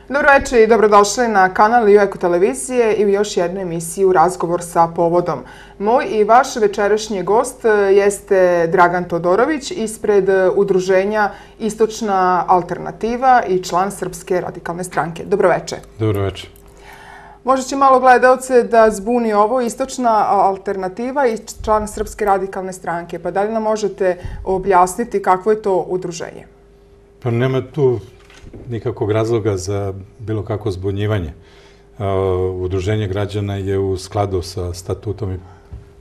Dobro večer i dobrodošli na kanal Eko televizije i u još jednu emisiju Razgovor sa povodom. Moj i vaš večerašnji gost jeste Dragan Todorović ispred udruženja Istočna alternativa i član Srpske radikalne stranke. Dobro večer. Dobro večer. Možda će malo gledalce da zbuni ovo Istočna alternativa i član Srpske radikalne stranke. Pa da li nam možete objasniti kakvo je to udruženje? Pa nema tu nikakvog razloga za bilo kakvo zbunjivanje. Udruženje građana je u skladu sa statutom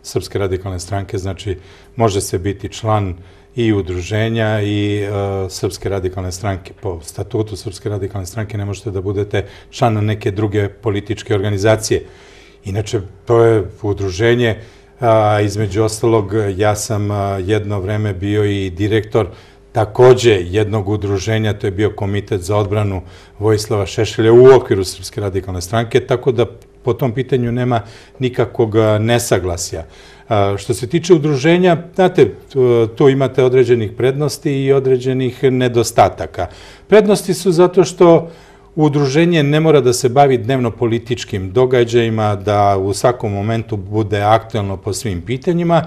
Srpske radikalne stranke, znači može se biti član i udruženja i Srpske radikalne stranke. Po statutu Srpske radikalne stranke ne možete da budete član neke druge političke organizacije. Inače, to je udruženje, između ostalog, ja sam jedno vreme bio i direktor takođe jednog udruženja, to je bio Komitet za odbranu Vojislava Šešelja u okviru Srpske radikalne stranke, tako da po tom pitanju nema nikakvog nesaglasja. Što se tiče udruženja, znate, tu imate određenih prednosti i određenih nedostataka. Prednosti su zato što udruženje ne mora da se bavi dnevno političkim događajima, da u svakom momentu bude aktuelno po svim pitanjima.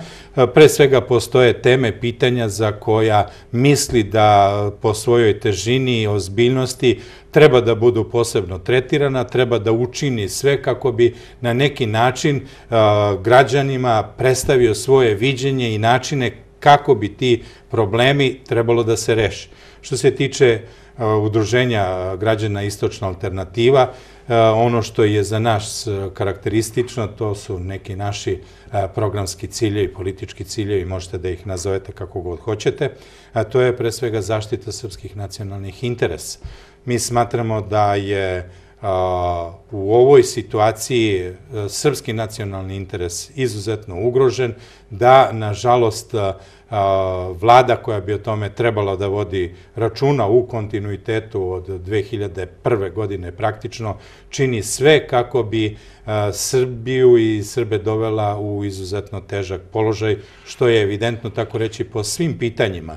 Pre svega postoje teme, pitanja za koja misli da po svojoj težini i ozbiljnosti treba da budu posebno tretirana, treba da učini sve kako bi na neki način građanima predstavio svoje viđenje i načine kako bi ti problemi trebalo da se reše. Što se tiče udruženja građana Istočna alternativa, ono što je za nas karakteristično, to su neki naši programski ciljevi, politički ciljevi, možete da ih nazovete kako god hoćete, a to je pre svega zaštita srpskih nacionalnih interesa. Mi smatramo da je u ovoj situaciji srpski nacionalni interes izuzetno ugrožen, da, nažalost, vlada koja bi o tome trebala da vodi računa u kontinuitetu od 2001. godine praktično čini sve kako bi Srbiju i Srbe dovela u izuzetno težak položaj, što je evidentno, tako reći, po svim pitanjima,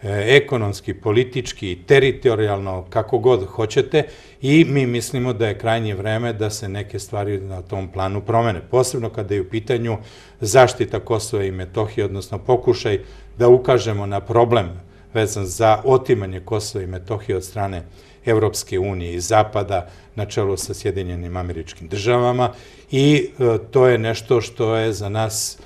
ekonomski, politički, teritorijalno, kako god hoćete, i mi mislimo da je krajnje vreme da se neke stvari na tom planu promene. Posebno kada je u pitanju zaštita Kosova i Metohije, odnosno pokušaj da ukažemo na problem vezan za otimanje Kosova i Metohije od strane Evropske unije i Zapada na čelu sa Sjedinjenim Američkim Državama, i to je nešto što je za nas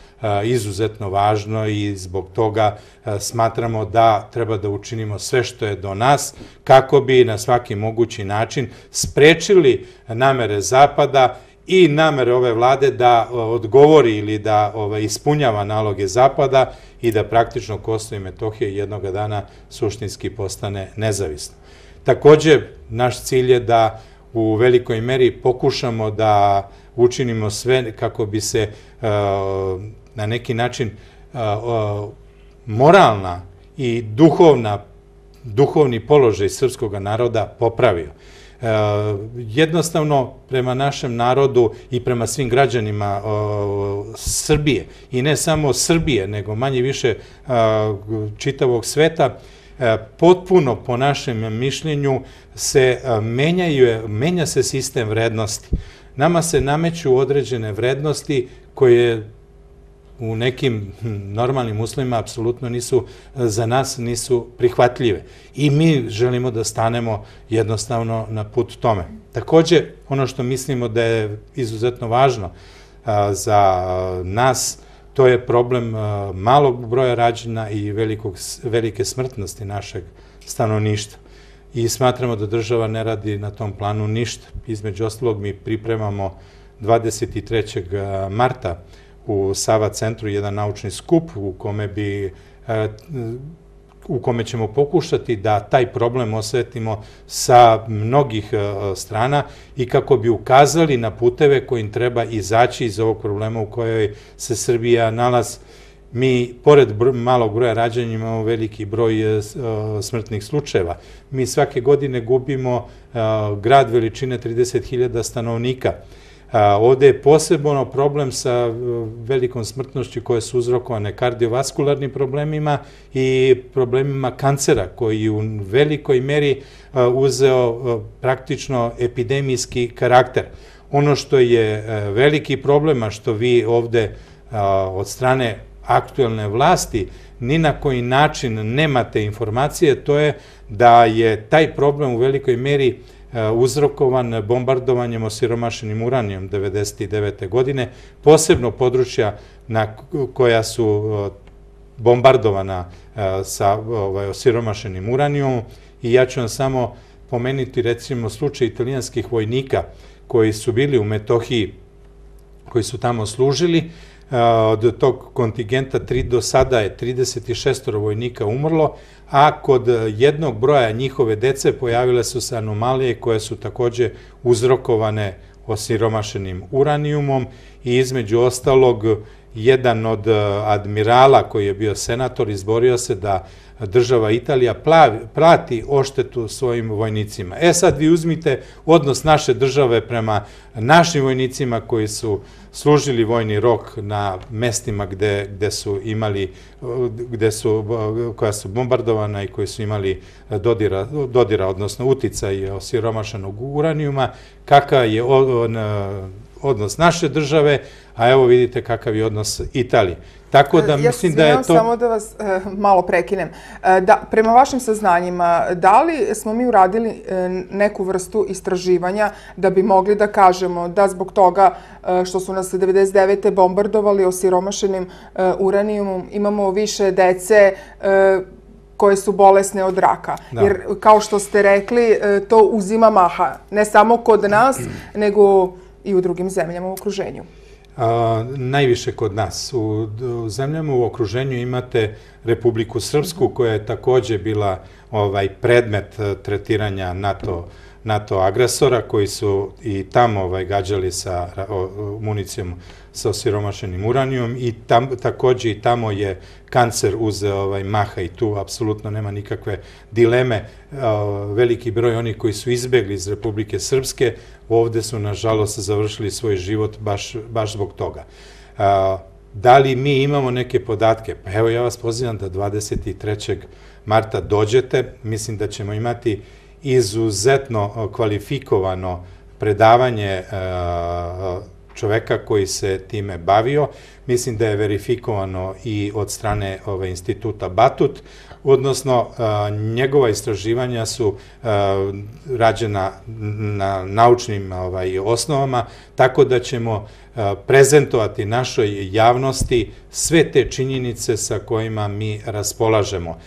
izuzetno važno i zbog toga smatramo da treba da učinimo sve što je do nas kako bi na svaki mogući način sprečili namere Zapada i namere ove vlade da odgovori ili da ispunjava naloge Zapada i da praktično Kosovo i Metohija jednoga dana suštinski postane nezavisno. Takođe, naš cilj je da u velikoj meri pokušamo da učinimo sve kako bi se na neki način moralna i duhovni položaj srpskog naroda popravio. Jednostavno, prema našem narodu i prema svim građanima Srbije, i ne samo Srbije, nego manje više čitavog sveta, potpuno, po našem mišljenju, menja se sistem vrednosti. Nama se nameću određene vrednosti koje u nekim normalnim uslovima apsolutno za nas nisu prihvatljive. I mi želimo da stanemo jednostavno na put tome. Takođe, ono što mislimo da je izuzetno važno za nas, to je problem malog broja rađanja i velike smrtnosti našeg stanovništva. I smatramo da država ne radi na tom planu ništa. Između ostalog, mi pripremamo 23. marta u Sava centru jedan naučni skup u kome ćemo pokušati da taj problem osvetlimo sa mnogih strana i kako bi ukazali na puteve kojim treba izaći iz ovog problema u kojoj se Srbija nalazi. Mi, pored malog broja rađanja, imamo veliki broj smrtnih slučajeva. Mi svake godine gubimo grad veličine 30.000 stanovnika. Ovde je posebno problem sa velikom smrtnošću koje su uzrokovane kardiovaskularnim problemima i problemima kancera, koji u velikoj meri uzeo praktično epidemijski karakter. Ono što je veliki problem, a što vi ovde od strane aktuelne vlasti ni na koji način nemate informacije, to je da je taj problem u velikoj meri uzrokovan bombardovanjem osiromašenim uranijom 1999. godine, posebno područja koja su bombardovana sa osiromašenim uranijom. I ja ću vam samo pomenuti recimo slučaj italijanskih vojnika koji su bili u Metohiji, koji su tamo služili. Od tog kontingenta do sada je 36 vojnika umrlo, a kod jednog broja njihove dece pojavile su se anomalije koje su takođe uzrokovane osiromašenim uranijumom i između ostalog jedan od admirala koji je bio senator izborio se da država Italija plati odštetu svojim vojnicima. Sad vi uzmite odnos naše države prema našim vojnicima koji su služili vojni rok na mestima koja su bombardovana i koji su imali dodira, odnosno uticaj osiromašenog uranijuma, kakav je odnos naše države, a evo vidite kakav je odnos Italije. Tako da mislim da je to... Samo da vas malo prekinem. Prema vašim saznanjima, da li smo mi uradili neku vrstu istraživanja da bi mogli da kažemo da zbog toga što su nas 1999. bombardovali osiromašenim uranijumom imamo više dece koje su bolesne od raka? Jer, kao što ste rekli, to uzima maha. Ne samo kod nas, nego i u drugim zemljama u okruženju. Najviše kod nas. U zemljama u okruženju imate Republiku Srpsku, koja je takođe bila predmet tretiranja NATO agresora, koji su i tamo gađali sa municijom sa osiromašenim uranijom i takođe i tamo je kancer uzeo maha i tu apsolutno nema nikakve dileme. Veliki broj onih koji su izbegli iz Republike Srpske ovde su, nažalost, završili svoj život baš zbog toga. Da li mi imamo neke podatke? Pa evo, ja vas pozivam da 23. marta dođete. Mislim da ćemo imati izuzetno kvalifikovano predavanje čoveka koji se time bavio. Mislim da je verifikovano i od strane instituta Batut, odnosno njegova istraživanja su rađena na naučnim osnovama, tako da ćemo prezentovati našoj javnosti sve te činjenice sa kojima mi raspolažemo.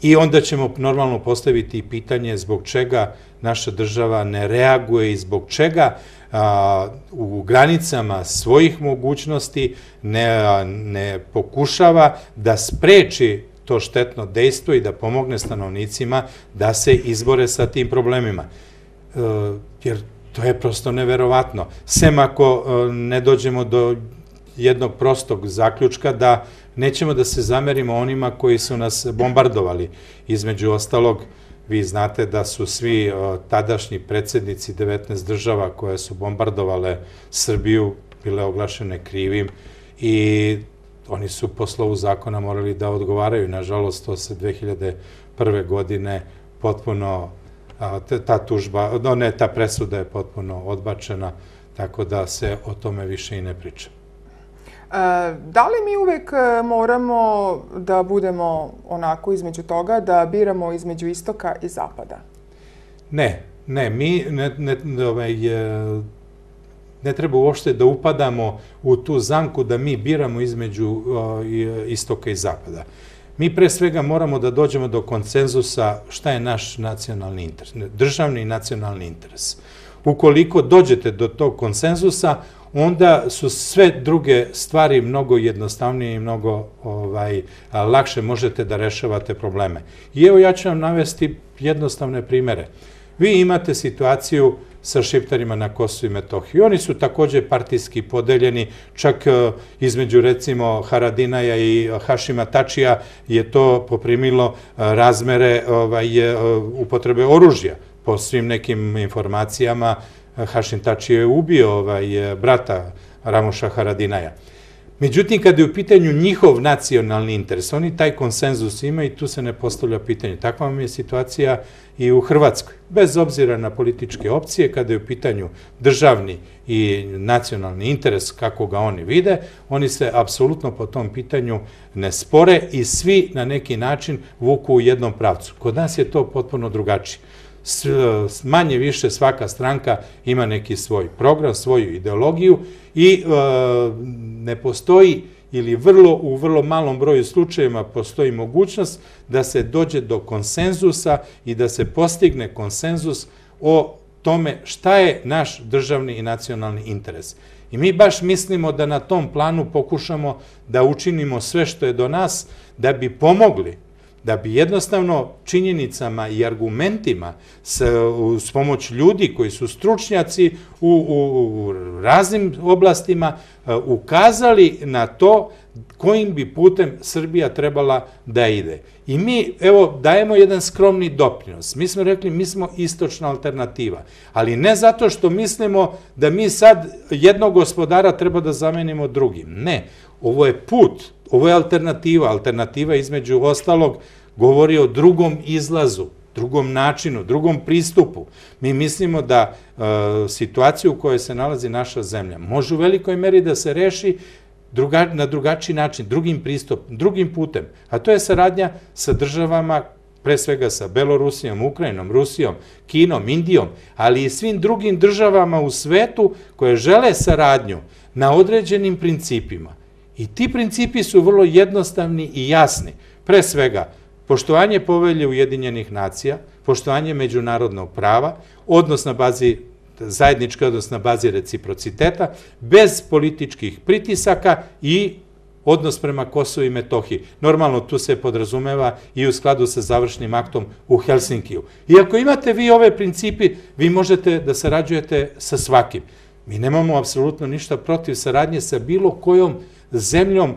I onda ćemo normalno postaviti pitanje zbog čega naša država ne reaguje i zbog čega u granicama svojih mogućnosti ne pokušava da spreči to štetno dejstvo i da pomogne stanovnicima da se izbore sa tim problemima. Jer to je prosto neverovatno. Sem ako ne dođemo do jednog prostog zaključka da nećemo da se zamerimo onima koji su nas bombardovali. Između ostalog, vi znate da su svi tadašnji predsednici 19 država koje su bombardovale Srbiju bile oglašene krivim i oni su po slovu zakona morali da odgovaraju. Nažalost, to se 2001. godine potpuno, ta presuda je potpuno odbačena, tako da se o tome više i ne priča. Da li mi uvek moramo da budemo onako između toga, da biramo između istoka i zapada? Ne, mi ne treba uopšte da upadamo u tu zamku da mi biramo između istoka i zapada. Mi pre svega moramo da dođemo do konsenzusa šta je naš nacionalni interes, državni i nacionalni interes. Ukoliko dođete do tog konsenzusa, onda su sve druge stvari mnogo jednostavnije i mnogo lakše možete da rešavate probleme. I evo ja ću vam navesti jednostavne primere. Vi imate situaciju sa Šiptarima na Kosovu i Metohiji. Oni su takođe partijski podeljeni, čak između recimo Haradinaja i Hašima Tačija je to poprimilo razmere upotrebe oružja. Po svim nekim informacijama Hašim Tači je ubio brata Ramuša Haradinaja. Međutim, kada je u pitanju njihov nacionalni interes, oni taj konsenzus imaju i tu se ne postavlja pitanje. Takva vam je situacija i u Hrvatskoj. Bez obzira na političke opcije, kada je u pitanju državni i nacionalni interes, kako ga oni vide, oni se apsolutno po tom pitanju ne spore i svi na neki način vuku u jednom pravcu. Kod nas je to potpuno drugačije. Manje više svaka stranka ima neki svoj program, svoju ideologiju i ne postoji ili u vrlo malom broju slučajeva postoji mogućnost da se dođe do konsenzusa i da se postigne konsenzus o tome šta je naš državni i nacionalni interes. I mi baš mislimo da na tom planu pokušamo da učinimo sve što je do nas da bi pomogli, da bi jednostavno činjenicama i argumentima s pomoć ljudi koji su stručnjaci u raznim oblastima ukazali na to kojim bi putem Srbija trebala da ide. I mi, evo, dajemo jedan skromni doprinos. Mi smo rekli, mi smo istočna alternativa, ali ne zato što mislimo da mi sad jednog gospodara treba da zamenimo drugim. Ne, ovo je put, ovo je alternativa. Alternativa između ostalog govori o drugom izlazu, drugom načinu, drugom pristupu. Mi mislimo da situaciju u kojoj se nalazi naša zemlja može u velikoj meri da se reši na drugačiji način, drugim pristupom, drugim putem, a to je saradnja sa državama, pre svega sa Belorusijom, Ukrajinom, Rusijom, Kinom, Indijom, ali i svim drugim državama u svetu koje žele saradnju na određenim principima. I ti principi su vrlo jednostavni i jasni. Pre svega, poštovanje povelje Ujedinjenih nacija, poštovanje međunarodnog prava, odnos na bazi zajednički odnos na bazi reciprociteta, bez političkih pritisaka i odnos prema Kosovu i Metohiji. Normalno, tu se podrazumeva i u skladu sa završnim aktom u Helsinkiju. I ako imate vi ove principi, vi možete da sarađujete sa svakim. Mi nemamo apsolutno ništa protiv saradnje sa bilo kojom zemljom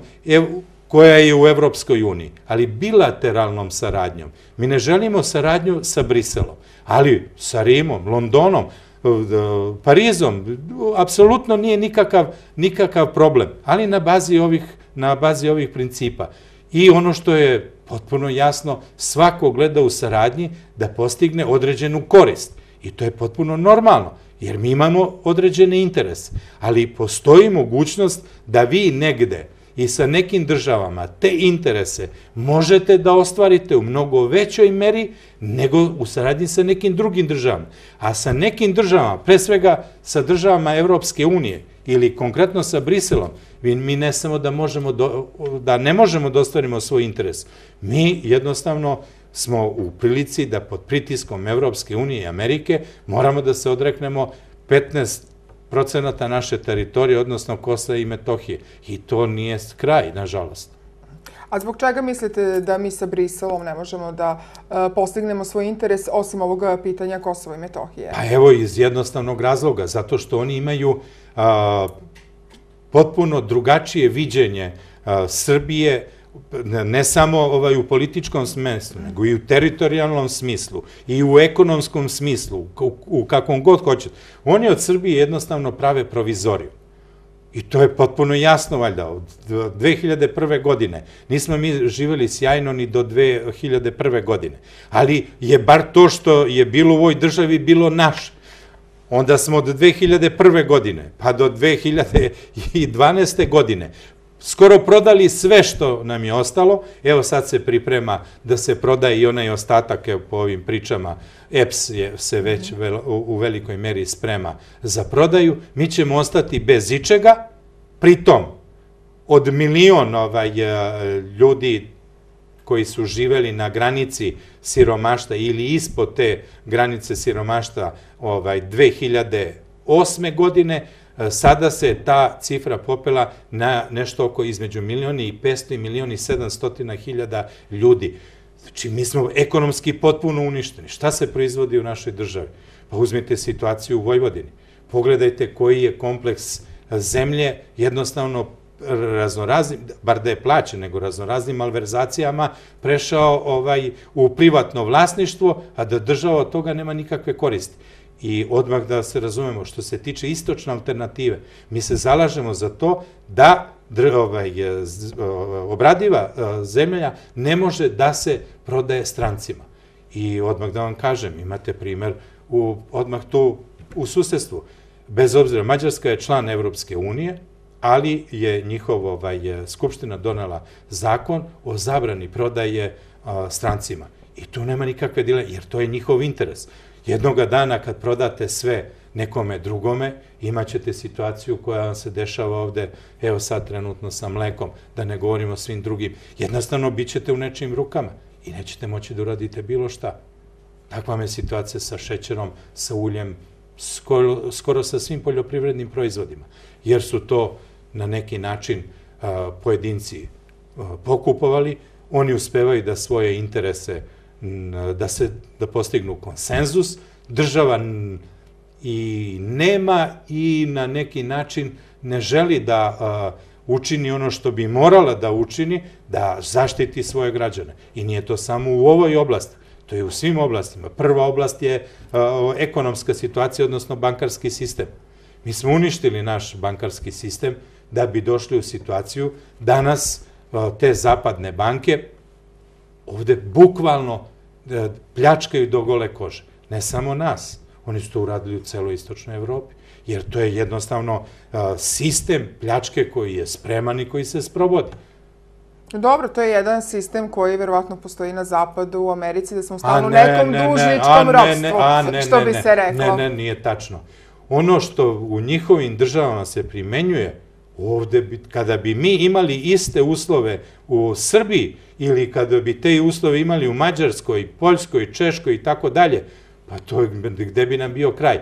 koja je u Evropskoj uniji, ali bilateralnom saradnjom. Mi ne želimo saradnju sa Briselom, ali sa Rimom, Londonom, Parizom, apsolutno nije nikakav problem, ali na bazi ovih principa. I ono što je potpuno jasno, svako gleda u saradnji da postigne određenu korist. I to je potpuno normalno, jer mi imamo određene interese, ali postoji mogućnost da vi negde i sa nekim državama te interese možete da ostvarite u mnogo većoj meri nego u saradnji sa nekim drugim državama. A sa nekim državama, pre svega sa državama Evropske unije ili konkretno sa Briselom, mi ne samo da ne možemo da ostvarimo svoj interes. Mi jednostavno smo u prilici da pod pritiskom Evropske unije i Amerike moramo da se odreknemo 15% naše teritorije, odnosno Kosova i Metohije. I to nije kraj, nažalost. A zbog čega mislite da mi sa Briselom ne možemo da postignemo svoj interes osim ovog pitanja Kosova i Metohije? Pa evo, iz jednostavnog razloga, zato što oni imaju potpuno drugačije viđenje Srbije, ne samo u političkom smislu, nego i u teritorijalnom smislu i u ekonomskom smislu, u kakvom god hoćete. Oni od Srbije jednostavno prave provizoriju. I to je potpuno jasno, valjda, od 2001. godine. Nismo mi živjeli sjajno ni do 2001. godine. Ali je bar to što je bilo u ovoj državi bilo naše. Onda smo od 2001. godine pa do 2012. godine skoro prodali sve što nam je ostalo. Evo sad se priprema da se prodaje i onaj ostatak, po ovim pričama, EPS se već u velikoj meri sprema za prodaju. Mi ćemo ostati bez ičega, pritom od milion ljudi koji su živeli na granici siromaštva ili ispod te granice siromaštva 2008. godine, sada se ta cifra popela na nešto oko između 1.500.000 i 1.700.000 ljudi. Znači, mi smo ekonomski potpuno uništeni. Šta se proizvodi u našoj državi? Pa uzmite situaciju u Vojvodini. Pogledajte koji je kompleks zemlje jednostavno raznoraznim, bar da je plaćen, nego raznoraznim malverzacijama prešao u privatno vlasništvo, a da država od toga nema nikakve koristi. I odmah da se razumemo, što se tiče istočne alternative, mi se zalažemo za to da obradiva zemlja ne može da se prodaje strancima. I odmah da vam kažem, imate primer odmah tu u susedstvu. Bez obzira, Mađarska je član Evropske unije, ali je njihova skupština donela zakon o zabrani prodaje strancima. I tu nema nikakve dileme, jer to je njihov interes. Jednoga dana kad prodate sve nekome drugome, imat ćete situaciju koja vam se dešava ovde, evo sad trenutno sa mlekom, da ne govorimo o svim drugim. Jednostavno, bit ćete u nečijim rukama i nećete moći da uradite bilo šta. Takva je situacija sa šećerom, sa uljem, skoro sa svim poljoprivrednim proizvodima, jer su to na neki način pojedinci pokupovali, oni uspevaju da svoje interese, da postignu konsenzus, država i nema i na neki način ne želi da učini ono što bi morala da učini, da zaštiti svoje građane. I nije to samo u ovoj oblasti, to je u svim oblastima. Prva oblast je ekonomska situacija, odnosno bankarski sistem. Mi smo uništili naš bankarski sistem da bi došli u situaciju danas te zapadne banke ovde bukvalno pljačkaju do gole kože. Ne samo nas, oni su to uradili u celoj istočnoj Evropi, jer to je jednostavno sistem pljačke koji je spreman i koji se sprovodi. Dobro, to je jedan sistem koji verovatno postoji na zapadu, u Americi, da smo stalno u nekom dužničkom ropstvu, što bi se reklo. Ne, nije tačno. Ono što u njihovim državama se primenjuje, ovde, kada bi mi imali iste uslove u Srbiji ili kada bi te uslove imali u Mađarskoj, Poljskoj, Češkoj i tako dalje, pa to gde bi nam bio kraj.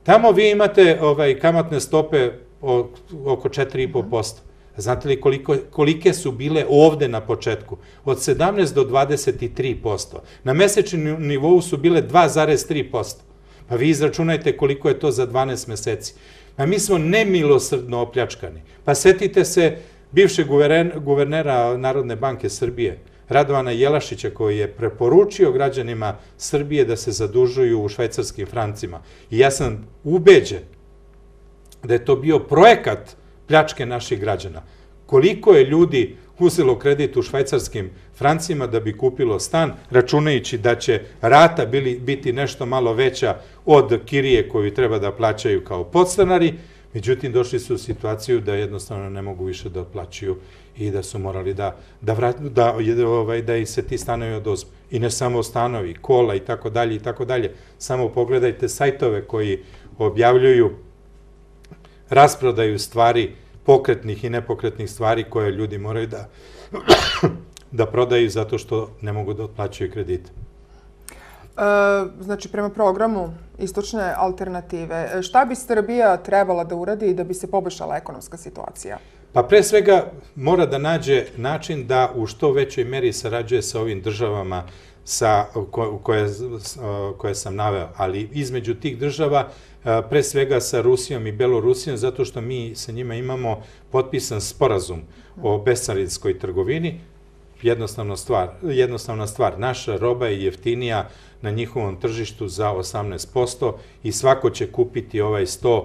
Tamo vi imate kamatne stope oko 4,5%. Znate li kolike su bile ovde na početku? Od 17 do 23%. Na mesečnom nivou su bile 2,3%. Pa vi izračunajte koliko je to za 12 meseci. Pa mi smo nemilosrdno opljačkani. Pa setite se bivšeg guvernera Narodne banke Srbije, Radovana Jelašića, koji je preporučio građanima Srbije da se zadužuju u švajcarskim francima. I ja sam ubeđen da je to bio projekat pljačke naših građana. Koliko je ljudi uzelo kredit u švajcarskim francima da bi kupilo stan, računajući da će rata biti nešto malo veća od kirije koju treba da plaćaju kao podstanari, međutim došli su u situaciju da jednostavno ne mogu više da otplaćuju i da su morali da ih se ti stanovi oduzmu. I ne samo stanovi, kola i tako dalje i tako dalje. Samo pogledajte sajtove koji objavljuju rasprodaju stvari, pokretnih i nepokretnih stvari koje ljudi moraju da prodaju zato što ne mogu da otplaćaju kredite. Znači, prema programu Istočne alternative, šta bi Srbija trebala da uradi da bi se poboljšala ekonomska situacija? Pa pre svega mora da nađe način da u što većoj meri sarađuje sa ovim državama koje sam naveo, ali između tih država pre svega sa Rusijom i Belorusijom, zato što mi sa njima imamo potpisan sporazum o bescarinskoj trgovini. Jednostavna stvar, naša roba je jeftinija na njihovom tržištu za 18% i svako će kupiti ovaj 100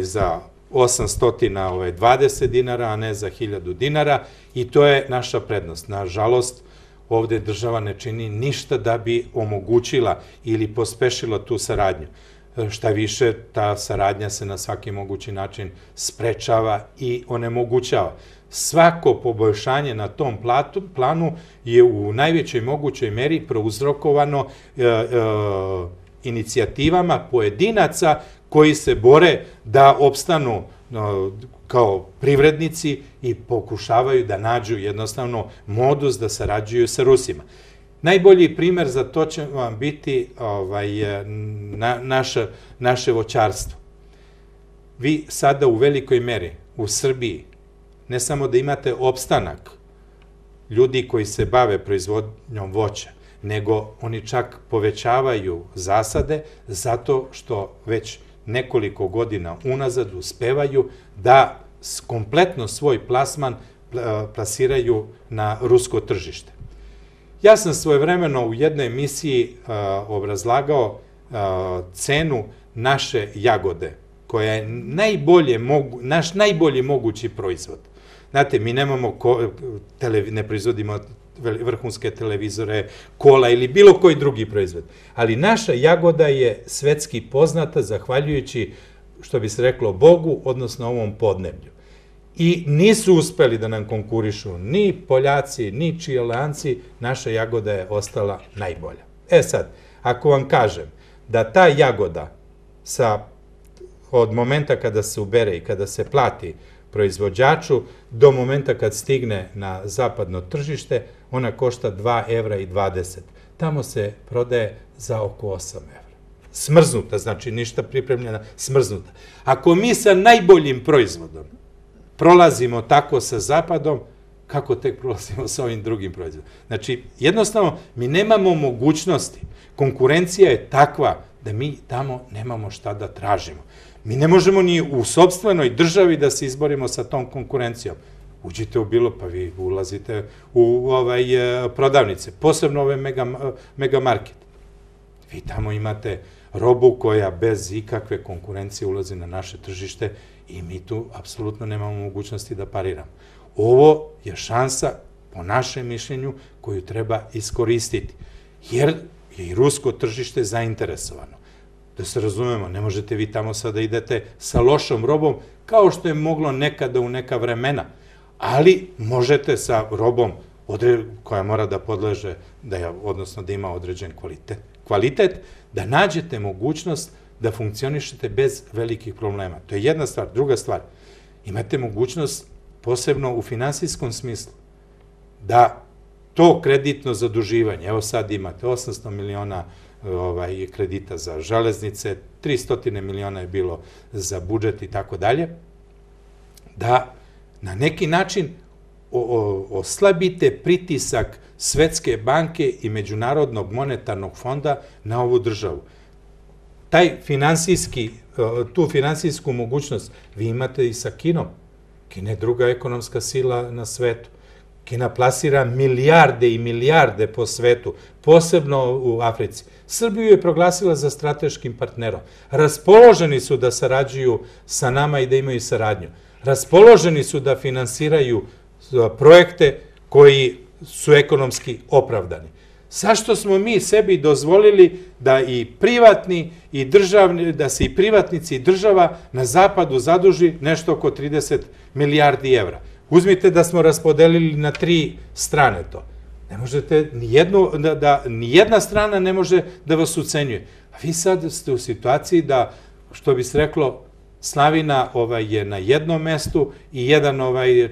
za 820 dinara, a ne za 1000 dinara i to je naša prednost. Nažalost, ovde država ne čini ništa da bi omogućila ili pospešila tu saradnju. Šta više, ta saradnja se na svaki mogući način sprečava i onemogućava. Svako poboljšanje na tom planu je u najvećoj mogućoj meri prouzrokovano inicijativama pojedinaca koji se bore da opstanu kao privrednici i pokušavaju da nađu jednostavno modus da sarađuju sa Rusima. Najbolji primer za to će vam biti naše voćarstvo. Vi sada u velikoj meri u Srbiji ne samo da imate opstanak ljudi koji se bave proizvodnjom voća, nego oni čak povećavaju zasade zato što već nekoliko godina unazad uspevaju da kompletno svoj plasman plasiraju na rusko tržište. Ja sam svojevremeno u jednoj emisiji obrazlagao cenu naše jagode, koja je naš najbolji mogući proizvod. Znate, mi ne proizvodimo vrhunske televizore, kola ili bilo koji drugi proizvod, ali naša jagoda je svetski poznata zahvaljujući, što bi se reklo, Bogu, odnosno ovom podneblju. I nisu uspeli da nam konkurišu ni Poljaci, ni Čileanci, naša jagoda je ostala najbolja. E sad, ako vam kažem da ta jagoda od momenta kada se ubere i kada se plati proizvođaču do momenta kad stigne na zapadno tržište, ona košta 2,20 €. Tamo se prodaje za oko 8 €. Smrznuta, znači ništa pripremljena, smrznuta. Ako mi sa najboljim proizvodom prolazimo tako sa zapadom, kako tek prolazimo sa ovim drugim proizvodom? Znači, jednostavno, mi nemamo mogućnosti. Konkurencija je takva da mi tamo nemamo šta da tražimo. Mi ne možemo ni u sopstvenoj državi da se izborimo sa tom konkurencijom. Uđite u bilo, pa vi ulazite u prodavnice, posebno ove megamarket. Vi tamo imate robu koja bez ikakve konkurencije ulazi na naše tržište i mi tu apsolutno nemamo mogućnosti da pariramo. Ovo je šansa, po našem mišljenju, koju treba iskoristiti, jer je i rusko tržište zainteresovano. Da se razumemo, ne možete vi tamo sada idete sa lošom robom, kao što je moglo nekada u neka vremena, ali možete sa robom koja mora da podleže, odnosno da ima određen kvalitet, da nađete mogućnost da funkcionišete bez velikih problema. To je jedna stvar. Druga stvar, imate mogućnost, posebno u finansijskom smislu, da to kreditno zaduživanje, evo sad imate 800 miliona kredita za železnice, 300 miliona je bilo za budžet i tako dalje, da na neki način oslabite pritisak Svetske banke i Međunarodnog monetarnog fonda na ovu državu. Tu finansijsku mogućnost vi imate i sa Kinom. Kina je druga ekonomska sila na svetu. Kina plasira milijarde i milijarde po svetu, posebno u Africi. Srbiju je proglasila za strateškim partnerom. Raspoloženi su da sarađuju sa nama i da imaju saradnju. Raspoloženi su da finansiraju projekte koji su ekonomski opravdani. Zašto smo mi sebi dozvolili da i privatni i državni, da se i privatnici i država na zapadu zaduži nešto oko 30 milijardi evra? Uzmite da smo raspodelili na 3 strane to. Ne možete, nijedna strana ne može da vas ucenjuje. A vi sad ste u situaciji da, što bi se reklo, slavina je na jednom mestu i jedan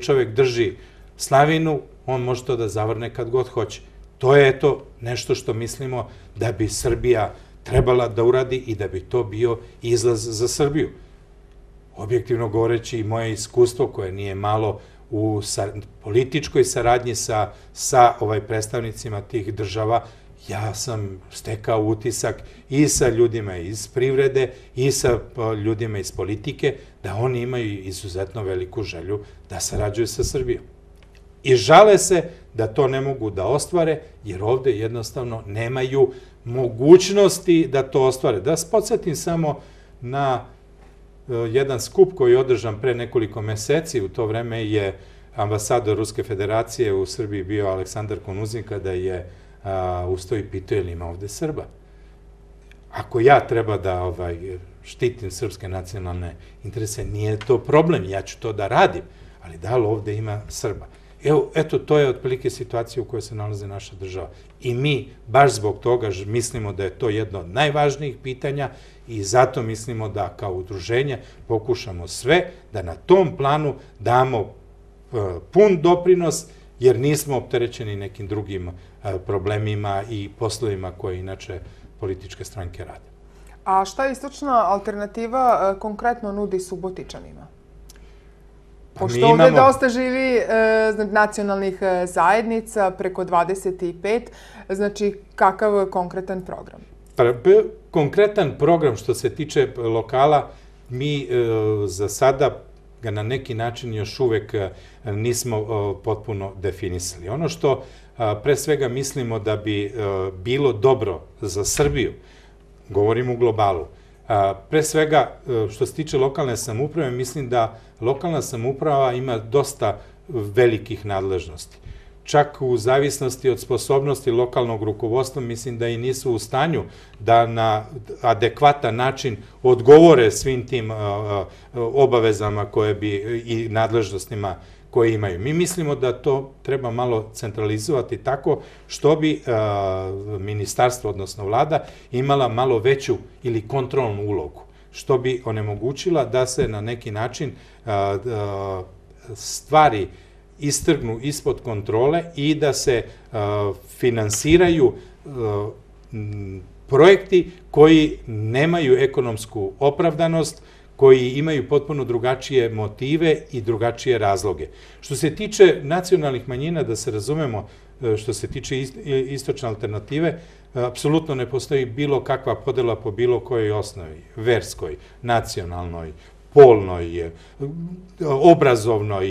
čovjek drži slavinu, on može to da zavrne kad god hoće. To je nešto što mislimo da bi Srbija trebala da uradi i da bi to bio izlaz za Srbiju. Objektivno govoreći, i moje iskustvo, koje nije malo u političkoj saradnji sa predstavnicima tih država, ja sam stekao utisak i sa ljudima iz privrede i sa ljudima iz politike da oni imaju izuzetno veliku želju da sarađuju sa Srbijom. I žale se da to ne mogu da ostvare, jer ovde jednostavno nemaju mogućnosti da to ostvare. Da vas podsjetim samo na jedan skup koji je održan pre nekoliko meseci. U to vreme je ambasador Ruske federacije u Srbiji bio Aleksandar Konuzin, kada je ustao i pitao je li ima ovde Srba. Ako ja treba da štitim srpske nacionalne interese, nije to problem, ja ću to da radim, ali da li ovde ima Srba? Eto, to je otprilike situacija u kojoj se nalazi naša država. I mi, baš zbog toga, mislimo da je to jedno od najvažnijih pitanja i zato mislimo da kao udruženje pokušamo sve da na tom planu damo pun doprinos, jer nismo opterećeni nekim drugim problemima i poslovima koje inače političke stranke rade. A šta istočna alternativa konkretno nudi Subotičanima? Pošto ovdje dosta živi nacionalnih zajednica, preko 25, znači kakav konkretan program? Konkretan program što se tiče lokala, mi za sada ga na neki način još uvek nismo potpuno definisali. Ono što pre svega mislimo da bi bilo dobro za Srbiju, govorim u globalu, pre svega što se tiče lokalne samouprave, mislim da lokalna samouprava ima dosta velikih nadležnosti. Čak u zavisnosti od sposobnosti lokalnog rukovodstva, mislim da i nisu u stanju da na adekvatan način odgovore svim tim obavezama i nadležnostima koje imaju. Mi mislimo da to treba malo centralizovati tako što bi ministarstvo, odnosno vlada, imala malo veću ili kontrolnu ulogu, što bi onemogućila da se na neki način stvari istrgnu ispod kontrole i da se finansiraju projekti koji nemaju ekonomsku opravdanost, koji imaju potpuno drugačije motive i drugačije razloge. Što se tiče nacionalnih manjina, da se razumemo, što se tiče istočne alternative, apsolutno ne postoji bilo kakva podela po bilo kojoj osnovi, verskoj, nacionalnoj, polnoj, obrazovnoj,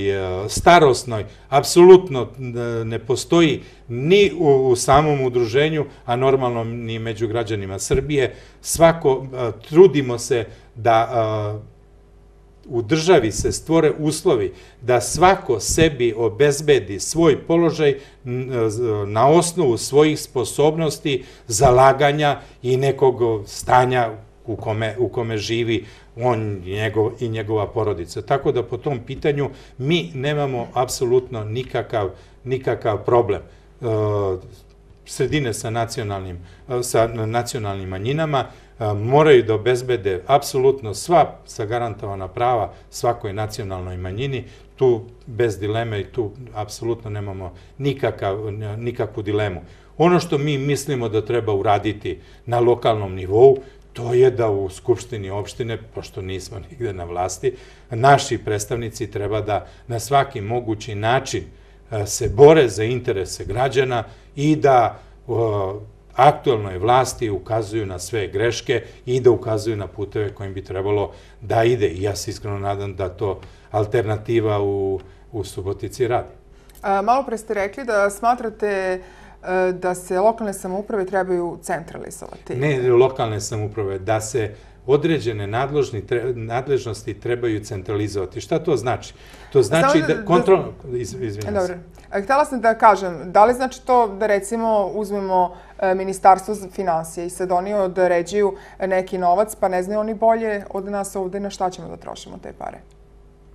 starosnoj, apsolutno ne postoji ni u samom udruženju, a normalno ni među građanima Srbije. Trudimo se da u državi se stvore uslovi da svako sebi obezbedi svoj položaj na osnovu svojih sposobnosti, zalaganja i nekog stanja u kome živi on i njegova porodica. Tako da po tom pitanju mi nemamo apsolutno nikakav problem. Sredine sa nacionalnim manjinama moraju da obezbede apsolutno sva zagarantovana prava svakoj nacionalnoj manjini, tu bez dileme i tu apsolutno nemamo nikakvu dilemu. Ono što mi mislimo da treba uraditi na lokalnom nivou, to je da u Skupštini opštine, pošto nismo nigde na vlasti, naši predstavnici treba da na svaki mogući način se bore za interese građana i da aktuelnoj vlasti ukazuju na sve greške i da ukazuju na puteve kojim bi trebalo da ide. I ja se iskreno nadam da to alternativa u Subotici radi. Malo pre ste rekli da smatrate da se lokalne samouprave trebaju centralizovati. Ne lokalne samouprave, da se određene nadležnosti trebaju centralizovati. Šta to znači? To znači da kontrolno... Izvinjam se. Htjela sam da kažem, da li znači to da recimo uzmemo Ministarstvo finansija i sad oni određuju neki novac, pa ne znaju oni bolje od nas ovde na šta ćemo da trošimo te pare?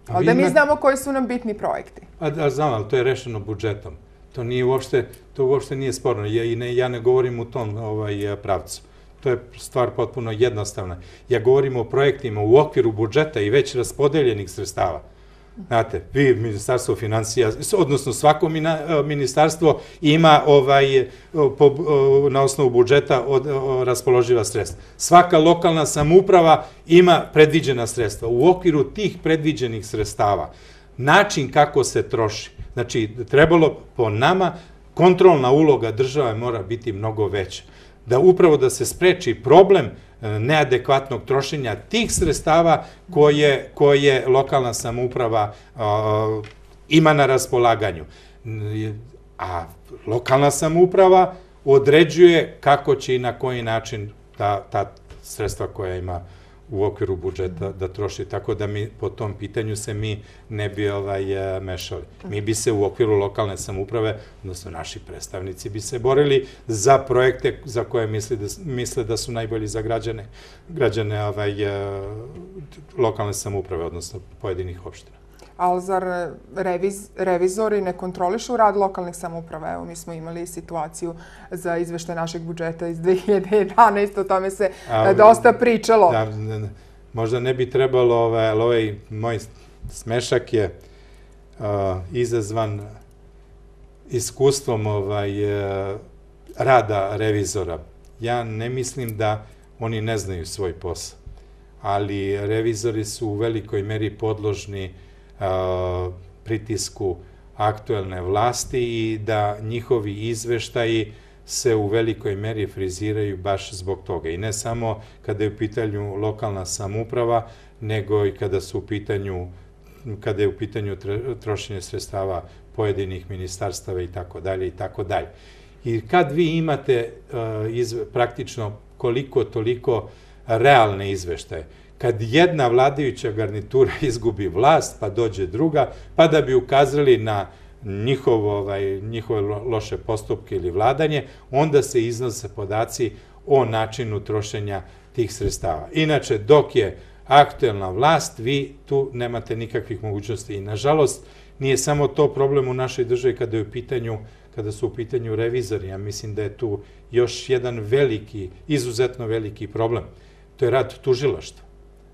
Ali da mi znamo koji su nam bitni projekti. Znam, ali to je rešeno budžetom. To uopšte nije sporno. Ja ne govorim u tom pravcu. To je stvar potpuno jednostavna. Ja govorim o projektima u okviru budžeta i već raspodeljenih sredstava. Znate, vi, Ministarstvo finansija, odnosno svako ministarstvo ima na osnovu budžeta raspoloživa sredstva. Svaka lokalna samouprava ima predviđena sredstva. U okviru tih predviđenih sredstava način kako se troši, znači trebalo po nama, kontrolna uloga države mora biti mnogo veća. Upravo da se spreči problem neadekvatnog trošenja tih sredstava koje lokalna samouprava ima na raspolaganju. A lokalna samouprava određuje kako će i na koji način ta sredstva koja ima u okviru budžeta da troši, tako da mi po tom pitanju se mi ne bi mešali. Mi bi se u okviru lokalne samouprave, odnosno naši predstavnici bi se borili za projekte za koje misle da su najbolji za građane lokalne samouprave, odnosno pojedinih opština. Ali zar revizori ne kontrolišu rad lokalnih samouprava? Evo, mi smo imali situaciju za izveštaj našeg budžeta iz 2011. O tome se dosta pričalo. Možda ne bi trebalo, ovaj moj smešak je izazvan iskustvom rada revizora. Ja ne mislim da oni ne znaju svoj posao, ali revizori su u velikoj meri podložni pritisku aktuelne vlasti i da njihovi izveštaji se u velikoj meri friziraju baš zbog toga. I ne samo kada je u pitanju lokalna samouprava, nego i kada je u pitanju trošenje sredstava pojedinih ministarstava i tako dalje i tako dalje. I kad vi imate praktično koliko toliko realne izveštaje, kad jedna vladajuća garnitura izgubi vlast, pa dođe druga, pa da bi ukazali na njihove loše postupke ili vladanje, onda se iznose podaci o načinu trošenja tih sredstava. Inače, dok je aktuelna vlast, vi tu nemate nikakvih mogućnosti. I, nažalost, nije samo to problem u našoj državi kada su u pitanju revizori. Ja mislim da je tu još jedan izuzetno veliki problem. To je rad tužilaštva.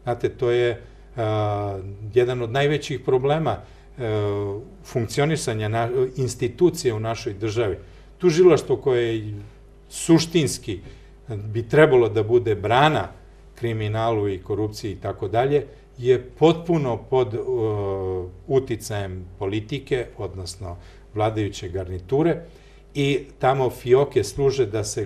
Znate, to je jedan od najvećih problema funkcionisanja institucije u našoj državi. Tužilaštvo koje suštinski bi trebalo da bude brana kriminalu i korupciji i tako dalje, je potpuno pod uticajem politike, odnosno vladajuće garniture, i tamo fioke služe da se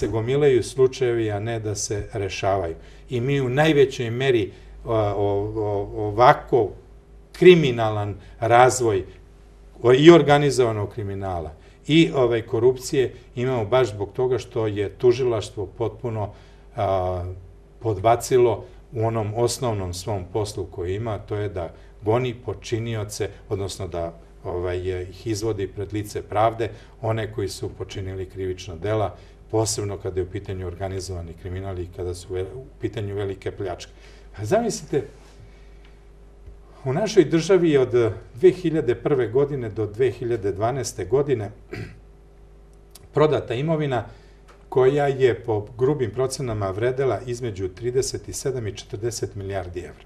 gomilaju slučajevi, a ne da se rešavaju. I mi u najvećoj meri ovako kriminalan razvoj i organizovanog kriminala i korupcije imamo baš zbog toga što je tužilaštvo potpuno podbacilo u onom osnovnom svom poslu koji ima, to je da goni počinioce, odnosno da ih izvodi pred lice pravde, one koji su počinili krivična dela, posebno kada je u pitanju organizovani kriminal i kada su u pitanju velike pljačke. Zamislite, u našoj državi je od 2001. godine do 2012. godine prodata imovina koja je po grubim procenama vredela između 37 i 40 milijardi evra.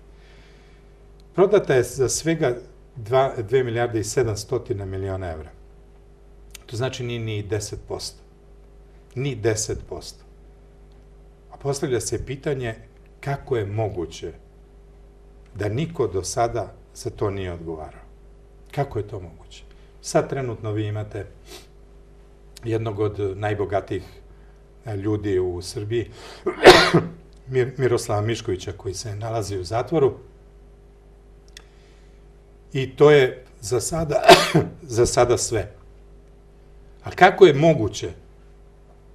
Prodata je za svega 2 milijarde i 700 miliona evra. To znači nije ni 10%. Ni 10%. A postavlja se pitanje kako je moguće da niko do sada za to nije odgovarao. Kako je to moguće? Sad trenutno vi imate jednog od najbogatijih ljudi u Srbiji, Miroslava Miškovića, koji se nalazi u zatvoru, i to je za sada sve. A kako je moguće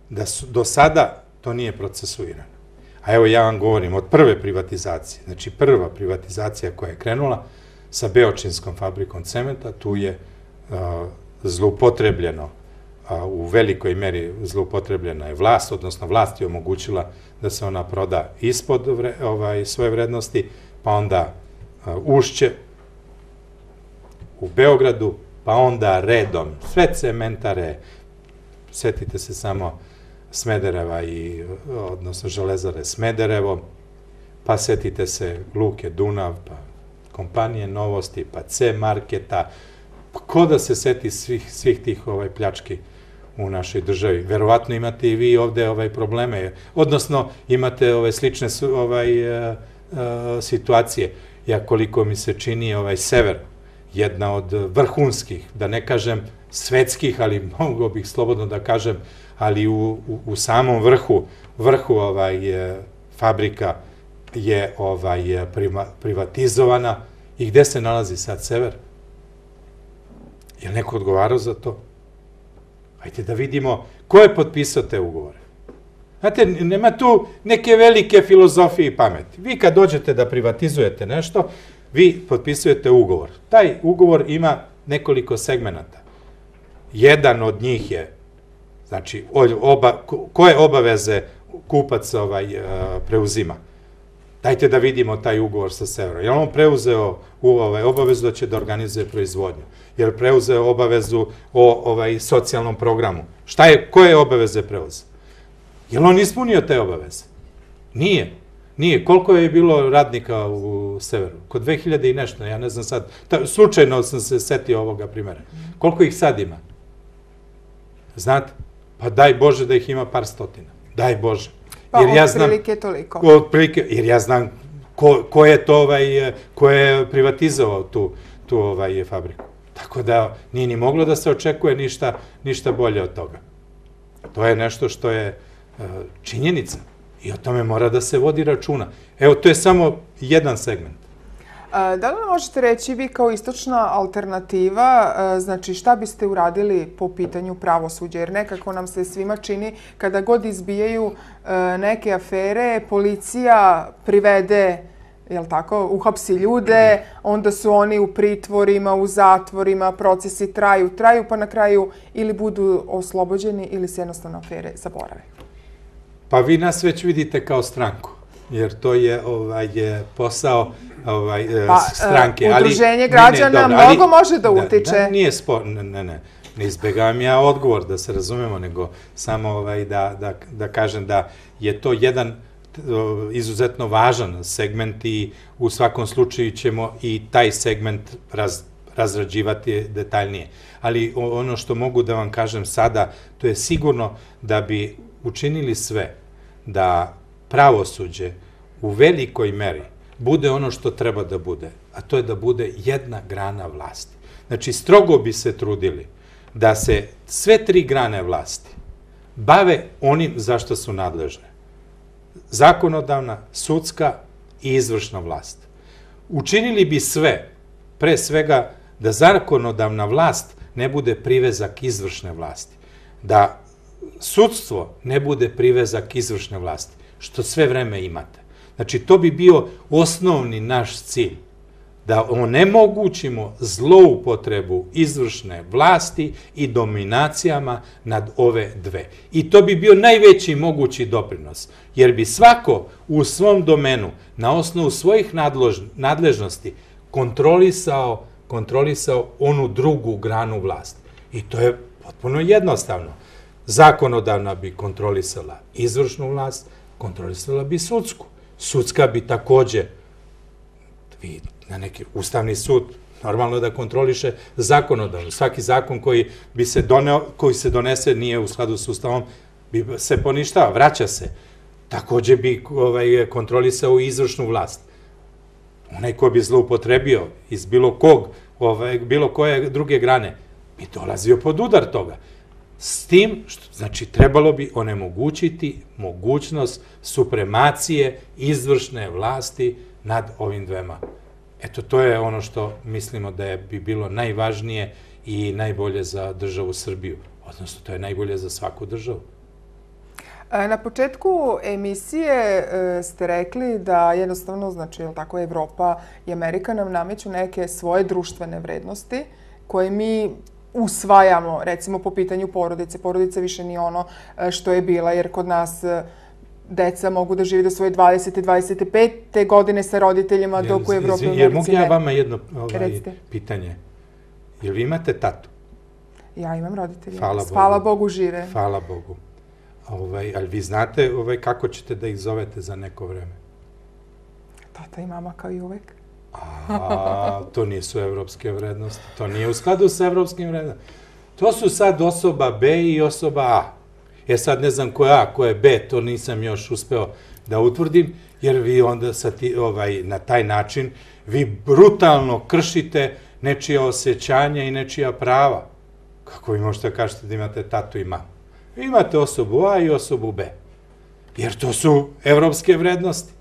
da do sada to nije procesuirano? A evo ja vam govorim od prve privatizacije, znači prva privatizacija koja je krenula sa Beočinskom fabrikom cementa, tu je zloupotrebljeno, u velikoj meri zloupotrebljena je vlast, odnosno vlast je omogućila da se ona proda ispod svoje vrednosti, pa onda Ušće u Beogradu, pa onda redom sve cementare, setite se samo Smedereva, odnosno Železare Smederevo, pa setite se Luke Dunav, pa kompanije Novosti, pa C-marketa, ko da se seti svih tih pljački u našoj državi. Verovatno imate i vi ovde probleme, odnosno imate slične situacije. Ja, koliko mi se čini, Sever, jedna od vrhunskih, da ne kažem svetskih, ali mogu bih slobodno da kažem, ali u samom vrhu fabrika je privatizovana. I gde se nalazi sad Sever? Je li neko odgovarao za to? Hajde da vidimo ko je potpisao te ugovore. Znate, nema tu neke velike filozofije i pameti. Vi kad dođete da privatizujete nešto, vi potpisujete ugovor. Taj ugovor ima nekoliko segmenata. Jedan od njih je, znači, koje obaveze kupac preuzima. Dajte da vidimo taj ugovor sa Severom. Je li on preuzeo obavezu da će da organizuje proizvodnju? Je li preuzeo obavezu o socijalnom programu? Koje obaveze preuzeo? Je li on ispunio te obaveze? Nije. Nije. Koliko je bilo radnika u Severu? Kod 2000 i nešto, ja ne znam sad. Slučajno sam se setio ovoga primjera. Koliko ih sad ima? Znate? Pa daj Bože da ih ima par stotina. Daj Bože. Pa otprilike toliko. Otprilike, jer ja znam ko je privatizovao tu fabriku. Tako da nije ni moglo da se očekuje ništa bolje od toga. To je nešto što je činjenica i o tome mora da se vodi računa. Evo, to je samo jedan segment. Da li možete reći vi kao istočna alternativa, znači šta biste uradili po pitanju pravosuđa? Jer nekako nam se svima čini kada god izbijaju neke afere, policija privede, jel tako, uhapsi ljude, onda su oni u pritvorima, u zatvorima, procesi traju, pa na kraju ili budu oslobođeni ili se jednostavno afere zaborave. Pa vi nas već vidite kao stranku, jer to je posao stranke. Udruženje građana mnogo može da utiče. Nije sporno, ne izbegavam ja odgovor, da se razumemo, nego samo da kažem da je to jedan izuzetno važan segment i u svakom slučaju ćemo i taj segment razrađivati detaljnije. Ali ono što mogu da vam kažem sada, to je sigurno da bi učinili sve da pravosuđe u velikoj meri bude ono što treba da bude, a to je da bude jedna grana vlasti. Znači, strogo bi se trudili da se sve tri grane vlasti bave onim za što su nadležne. Zakonodavna, sudska i izvršna vlast. Učinili bi sve, pre svega, da zakonodavna vlast ne bude privezak izvršne vlasti, da sudstvo ne bude privezak izvršne vlasti, što sve vreme imate. Znači, to bi bio osnovni naš cilj, da onemogućimo zloupotrebu izvršne vlasti i dominacijama nad ove dve. I to bi bio najveći mogući doprinos, jer bi svako u svom domenu, na osnovu svojih nadležnosti, kontrolisao onu drugu granu vlasti. I to je potpuno jednostavno. Zakonodavna bi kontrolisala izvršnu vlast, kontrolisala bi sudsku. Sudska bi takođe, na neki Ustavni sud, normalno da kontroliše zakonodavno. Svaki zakon koji se donese nije u skladu s Ustavom, bi se poništava, vraća se. Takođe bi kontrolisao i izvršnu vlast. Onaj ko bi zloupotrebio iz bilo koje druge grane, bi dolazio pod udar toga. S tim, znači, trebalo bi onemogućiti mogućnost supremacije izvršne vlasti nad ovim dvema. Eto, to je ono što mislimo da bi bilo najvažnije i najbolje za državu Srbiju. Odnosno, to je najbolje za svaku državu. Na početku emisije ste rekli da jednostavno, znači, tako, Evropa i Amerika nam nameću neke svoje društvene vrednosti koje mi usvajamo, recimo po pitanju porodice. Porodica više nije ono što je bila, jer kod nas deca mogu da žive do svoje 20. 25. godine sa roditeljima, dok u Evropi i Americi ne. Jer mogu ja vama jedno pitanje? Jel vi imate tatu? Ja imam roditelje. Hvala Bogu žive. Hvala Bogu. Ali vi znate kako ćete da ih zovete za neko vreme? Tata i mama kao i uvek. To nisu evropske vrednosti. To nije u skladu sa evropskim vrednostima. To su sad osoba B i osoba A. Sad ne znam ko je A, ko je B, to nisam još uspeo da utvrdim, jer vi onda na taj način vi brutalno kršite nečija osjećanja i nečija prava. Kako vi možete kažete da imate tatu i mamu? Vi imate osobu A i osobu B. Jer to su evropske vrednosti.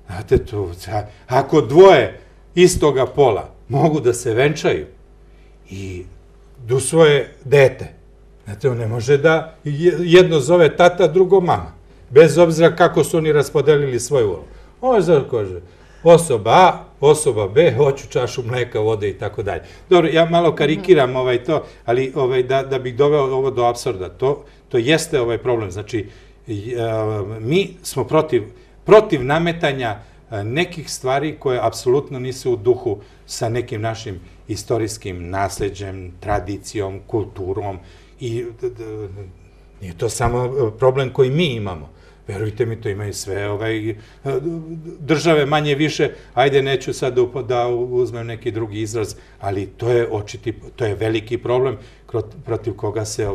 Znate, ako dvoje istoga pola mogu da se venčaju i da usvoje dete, znate, on ne može da jedno zove tata, drugo mama, bez obzira kako su oni raspodelili svoju ulogu. Ovo je zato kaže, osoba A, osoba B, hoću čašu mleka, vode i tako dalje. Dobro, ja malo karikiram to, ali da bih doveo ovo do apsurda, to jeste problem. Znači, mi smo protiv nametanja nekih stvari koje apsolutno nisu u duhu sa nekim našim istorijskim nasleđem, tradicijom, kulturom i nije to samo problem koji mi imamo. Verujte mi, to imaju sve države manje više, ajde neću sad da uzmem neki drugi izraz, ali to je veliki problem protiv koga se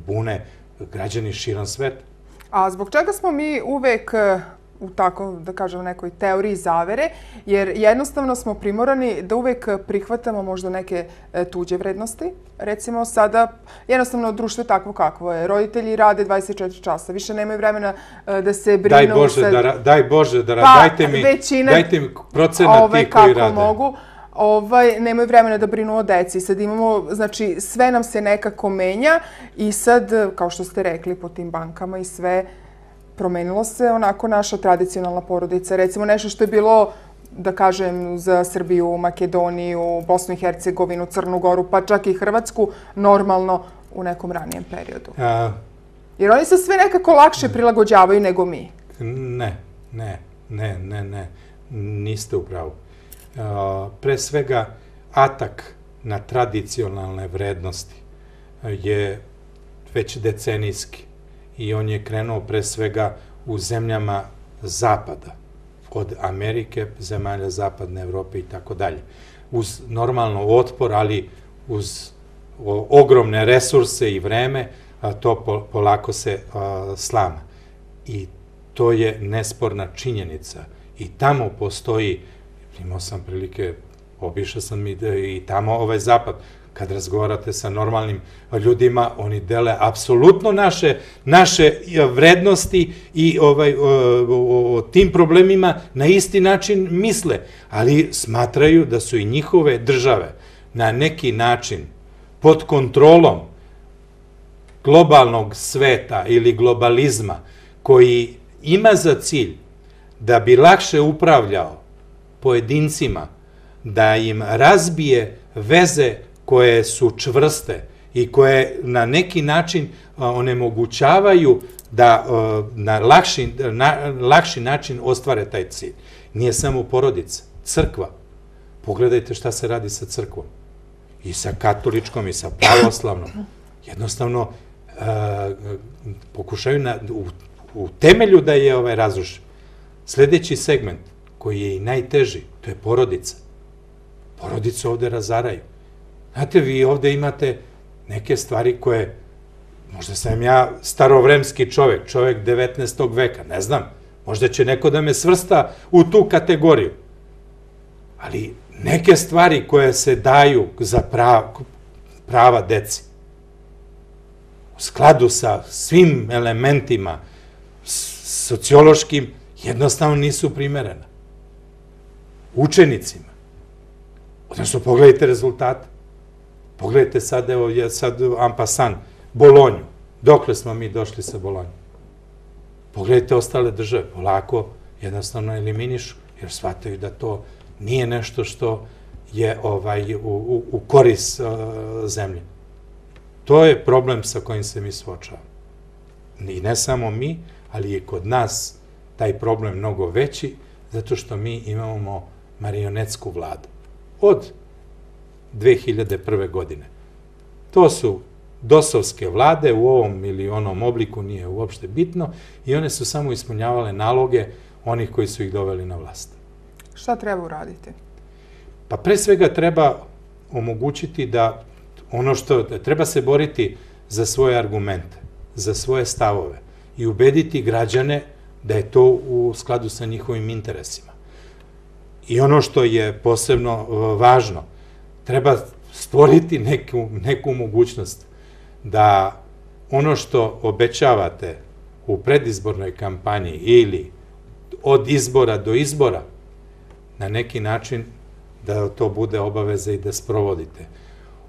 bune građani širom sveta. A zbog čega smo mi uvek u tako, da kažem, nekoj teoriji zavere, jer jednostavno smo primorani da uvek prihvatamo možda neke tuđe vrednosti. Recimo sada, jednostavno društvo je takvo kakvo je. Roditelji rade 24 časa, više nemaju vremena da se brinu. Daj Bože, dajte mi procenat tih koji rade. Mogu. Nemaju vremena da brinu o deci. Sad imamo, znači, sve nam se nekako menja i sad, kao što ste rekli, po tim bankama i sve, promenilo se onako naša tradicionalna porodica. Recimo nešto što je bilo, da kažem, za Srbiju, Makedoniju, Bosnu i Hercegovinu, Crnu Goru, pa čak i Hrvatsku, normalno u nekom ranijem periodu. Jer oni se sve nekako lakše prilagođavaju nego mi. Ne, niste u pravu. Pre svega, atak na tradicionalne vrednosti je već decenijski i on je krenuo pre svega u zemljama Zapada, od Amerike, zemalja Zapadne Evrope i tako dalje. Uz normalno otpor, ali uz ogromne resurse i vreme, to polako se slama. I to je nesporna činjenica. I tamo postoji, imao sam prilike, obišao sam i tamo ovaj Zapad, kad razgovarate sa normalnim ljudima, oni dele apsolutno naše vrednosti i o tim problemima na isti način misle, ali smatraju da su i njihove države na neki način pod kontrolom globalnog sveta ili globalizma koji ima za cilj da bi lakše upravljao pojedincima, da im razbije veze koje su čvrste i koje na neki način onemogućavaju da na lakši način ostvare taj cilj. Nije samo porodica, crkva. Pogledajte šta se radi sa crkvom. I sa katoličkom, i sa pravoslavnom. Jednostavno, pokušaju u temelju da je razruše. Sljedeći segment, koji je i najteži, to je porodica. Porodicu ovde razaraju. Znate, vi ovde imate neke stvari koje, možda sam ja starovremski čovek 19. veka, ne znam, možda će neko da me svrsta u tu kategoriju. Ali neke stvari koje se daju za prava deci, u skladu sa svim elementima sociološkim, jednostavno nisu primerena. Učenicima. Odnosno, pogledajte rezultate. Pogledajte sad, evo, sad en passant, Bolonju. Dokle smo mi došli sa Bolonjom? Pogledajte ostale države. Polako jednostavno eliminišu, jer shvataju da to nije nešto što je u korist zemlje. To je problem sa kojim se mi suočavamo. I ne samo mi, ali je kod nas taj problem mnogo veći, zato što mi imamo marionetsku vladu. Od 2001. godine. To su dosovske vlade u ovom ili onom obliku, nije uopšte bitno, i one su samo ispunjavale naloge onih koji su ih doveli na vlast. Šta treba uraditi? Pa pre svega treba omogućiti da treba se boriti za svoje argumente, za svoje stavove i ubediti građane da je to u skladu sa njihovim interesima. I ono što je posebno važno, treba stvoriti neku mogućnost da ono što obećavate u predizbornoj kampanji ili od izbora do izbora, na neki način da to bude obaveza i da sprovodite.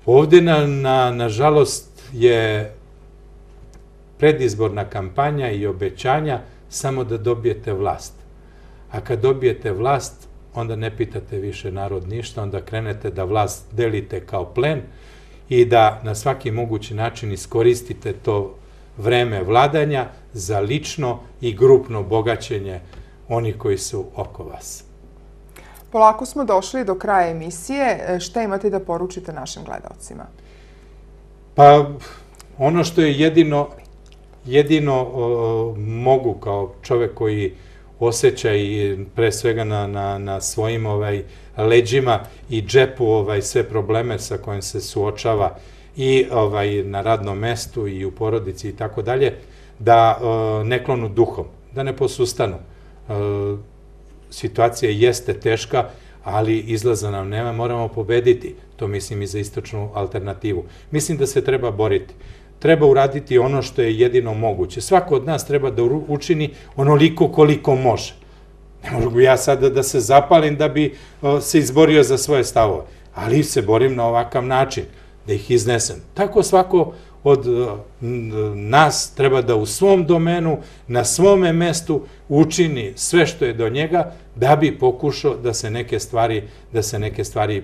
Ovde, nažalost, je predizborna kampanja i obećanja samo da dobijete vlast. A kad dobijete vlast, onda ne pitate više narod ništa, onda krenete da vlast delite kao plen i da na svaki mogući način iskoristite to vreme vladanja za lično i grupno bogaćenje onih koji su oko vas. Polako smo došli do kraja emisije. Šta imate da poručite našim gledalcima? Pa, ono što je jedino mogu kao čovek koji osjeća i pre svega na svojim leđima i džepu sve probleme sa kojim se suočava i na radnom mestu i u porodici i tako dalje, da ne klonu duhom, da ne posustanu, situacija jeste teška, ali izlaza nam nema, moramo pobediti. To mislim i za istočnu alternativu. Mislim da se treba boriti. Treba uraditi ono što je jedino moguće. Svako od nas treba da učini onoliko koliko može. Ne mogu ja sada da se zapalim da bi se izborio za svoje stavove, ali se borim na ovakav način, da ih iznesem. Tako svako od nas treba da u svom domenu, na svome mestu učini sve što je do njega da bi pokušao da se neke stvari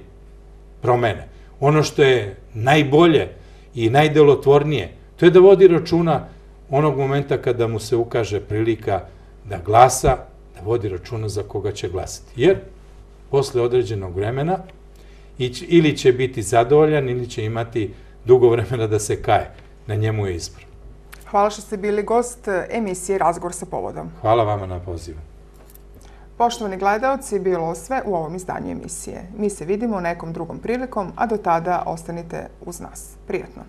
promene. Ono što je najbolje i najdelotvornije, to je da vodi računa onog momenta kada mu se ukaže prilika da glasa, da vodi računa za koga će glasati. Jer posle određenog vremena ili će biti zadovoljan ili će imati dugo vremena da se kaje. Na njemu je izbor. Hvala što ste bili gost emisije Razgovor sa povodom. Hvala vama na pozivu. Poštovani gledaoci, bilo sve u ovom izdanju emisije. Mi se vidimo nekom drugom prilikom, a do tada ostanite uz nas. Prijatno!